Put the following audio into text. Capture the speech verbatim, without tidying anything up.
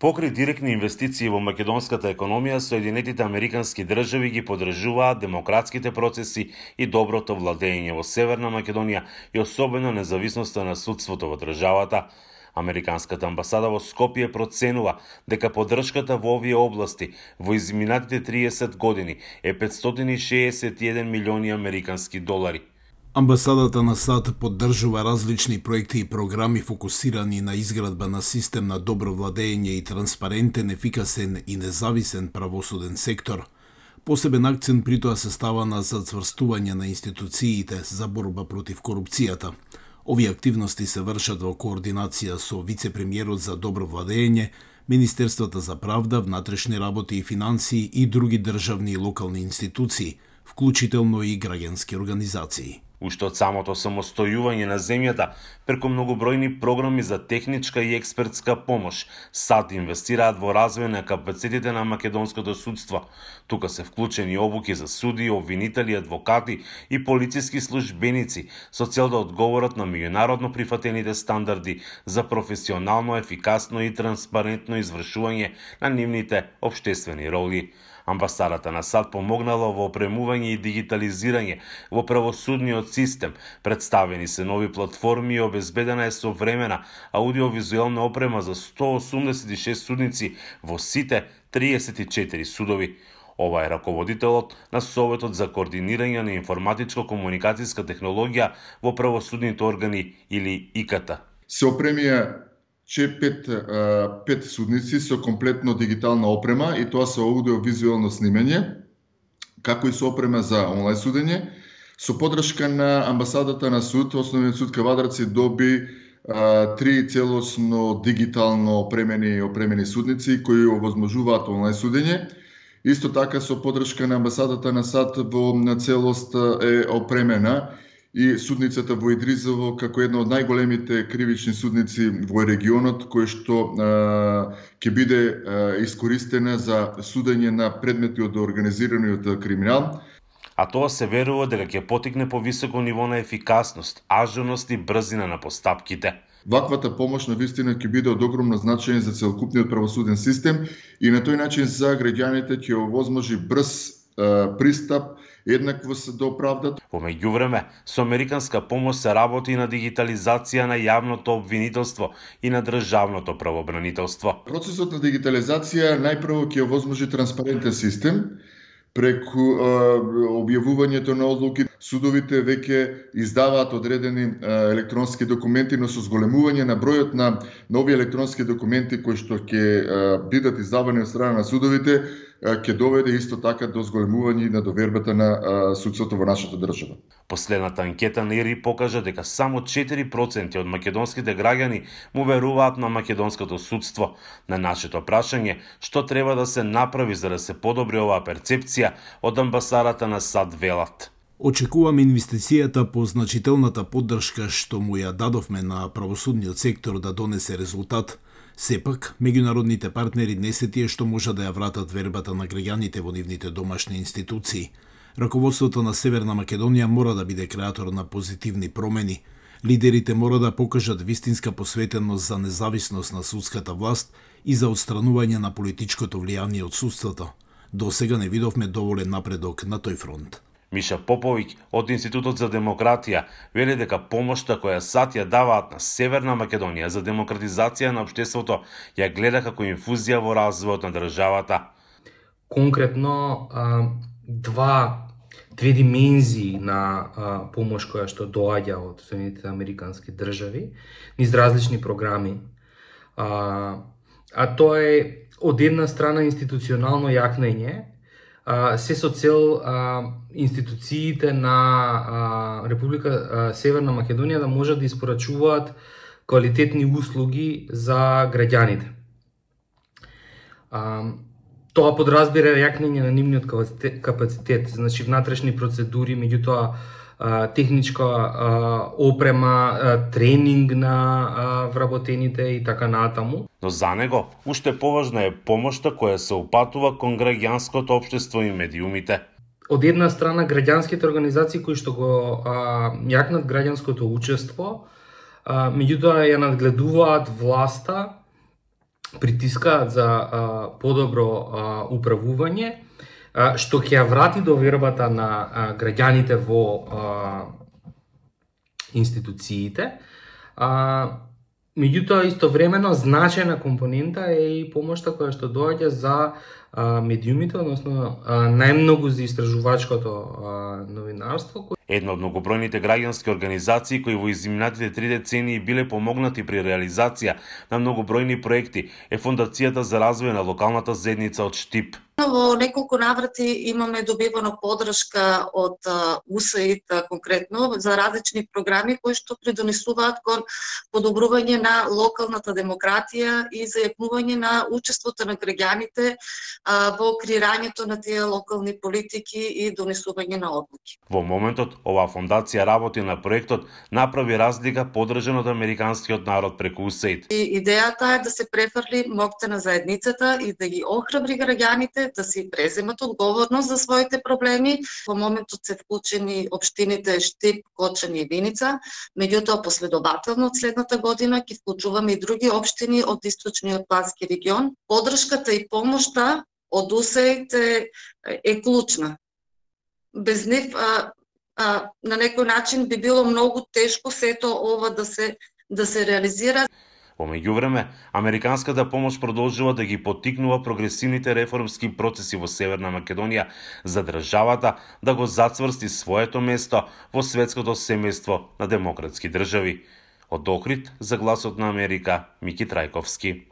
Покри директни инвестиции во македонската економија, Соединетите Американски држави ги поддржуваат демократските процеси и доброто владење во Северна Македонија и особено независноста на судството во државата. Американската амбасада во Скопје проценува дека поддршката во овие области во изминатите триесет години е петстотини и шеесет и еден милиони американски долари. Амбасадата на САД поддржува различни проекти и програми фокусирани на изградба на систем на добро владење и транспарентен, ефикасен и независен правосуден сектор. Посебен акцент при тоа се става на зацврстување на институциите за борба против корупцијата. Овие активности се вршат во координација со вице-премиерот за добро владење, Министерствата за правда, внатрешни работи и финансии и други државни и локални институции, вклучително и граѓански организации. Уште од самото самостојување на земјата, преку многобројни програми за техничка и експертска помош, САД инвестираат во развој на капацитетите на македонското судство. Тука се вклучени обуки за суди, обвинители, адвокати и полициски службеници со цел да одговорат на меѓународно прифатените стандарди за професионално, ефикасно и транспарентно извршување на нивните општествени роли. Амбасадата на САД помогнала во опремување и дигитализирање во правосудниот систем, представени се нови платформи и обезбедена е современа аудиовизуелна опрема за сто осумдесет и шест судници во сите триесет и четири судови. Ова е раководителот на Советот за координирање на информатичко-комуникацијска технологија во правосудните органи или И К Т. Се опремија че пет, пет судници со комплетно дигитална опрема и тоа со аудиовизуелно снимање, како и со опрема за онлайн судење. Со поддршка на амбасадата на суд, Основниот суд Кавадарци доби а, три целосно дигитално опремени опремени судници кои овозможуваат онлайн судење. Исто така со поддршка на амбасадата на САД во на целост е опремена и судницата во Идризово како една од најголемите кривични судници во регионот, кој што ќе биде а, искористена за судење на предмети од организираниот криминал. А тоа се верува дека ќе потикне по високо ниво на ефикасност, ажурност и брзина на постапките. Ваквата помош на вистина ќе биде од огромно значење за целокупниот правосуден систем и на тој начин за граѓаните ќе овозможи брз а, пристап, еднаквост до правдата. Во меѓувреме, со американска помош се работи на дигитализација на јавното обвинителство и на државното правобранителство. Процесот на дигитализација најпрво ќе овозможи транспарентен систем преку а, објавувањето на одлуки. Судовите веќе издаваат одредени а, електронски документи, но со зголемување на бројот на нови електронски документи кои што ќе бидат издавани од страна на судовите, ќе доведе исто така до зголемување на довербата на а, судството во нашата држава. Последната анкета на И Р И покажа дека само четири проценти од македонските граѓани му веруваат на македонското судство. На нашето прашање што треба да се направи за да се подобри оваа перцепција, од амбасадата на САД велат: Очекуваме инвестицијата по значителната поддршка што му ја дадовме на правосудниот сектор да донесе резултат. Сепак, меѓународните партнери не се тие што можат да ја вратат вербата на граѓаните во нивните домашни институции. Раководството на Северна Македонија мора да биде креатор на позитивни промени. Лидерите мора да покажат вистинска посветеност за независност на судската власт и за отстранување на политичкото влијание од судството. До сега не видовме доволен напредок на тој фронт. Миша Поповиќ од Институтот за демократија вели дека помошта која САД ја даваат на Северна Македонија за демократизација на општеството ја гледа како инфузија во развојот на државата. Конкретно два две димензии на помош која што доаѓа од Соединетите Американски држави низ различни програми. А, а тоа е од една страна институционално јакнење, се со цел а, институциите на а, Република а, Северна Македонија да можат да испорачуваат квалитетни услуги за граѓаните. А, тоа подразбира јакнење на нивниот капацитет, значи внатрешни процедури, меѓутоа техничка а, опрема, а, тренинг на а, вработените и така натаму. Но за него уште поважна е помошта која се упатува кон граѓанското општество и медиумите. Од една страна граѓанските организации кои што го а, јакнат граѓанското учество, а, меѓутоа ја надгледуваат власта притискаат за а, подобро а, управување, а, што ќе ја врати довербата на а, граѓаните во а, институциите. А, меѓутоа, истовремено, значајна компонента е и помошта која што доаѓа за а, медиумите, односно а, најмногу за истражувачкото а, новинарство. Една од многобројните граѓански организации кои во изминатите три децении биле помогнати при реализација на многобројни проекти е Фондацијата за развој на локалната заедница од Штип. Во неколку наврати имаме добивано поддршка од У С А И Д конкретно за различни програми кои што придонесуваат кон подобрување на локалната демократија и зајакнување на учеството на граѓаните во креирањето на тие локални политики и донесување на одлуки. Во моментот оваа фондација работи на проектот Направи разлика, поддржан од американскиот народ преку У С А И Д. И идејата е да се префрли моќта на заедницата и да ги охрабри граѓаните да си преземат одговорност за своите проблеми. Во моментот се вклучени општините Штип, Кочани и Виница, меѓутоа последователно од следната година ќе вклучуваме и други општини од источниот плански регион. Поддршката и помошта од У С А И Д е клучна. Без нив а, а, на некој начин би било многу тешко сето ова да се да се реализира. Во меѓувреме, американската помош продолжува да ги поттикнува прогресивните реформски процеси во Северна Македонија за државата да го зацврсти своето место во светското семејство на демократски држави. Од Охрид за Гласот на Америка, Мики Трајковски.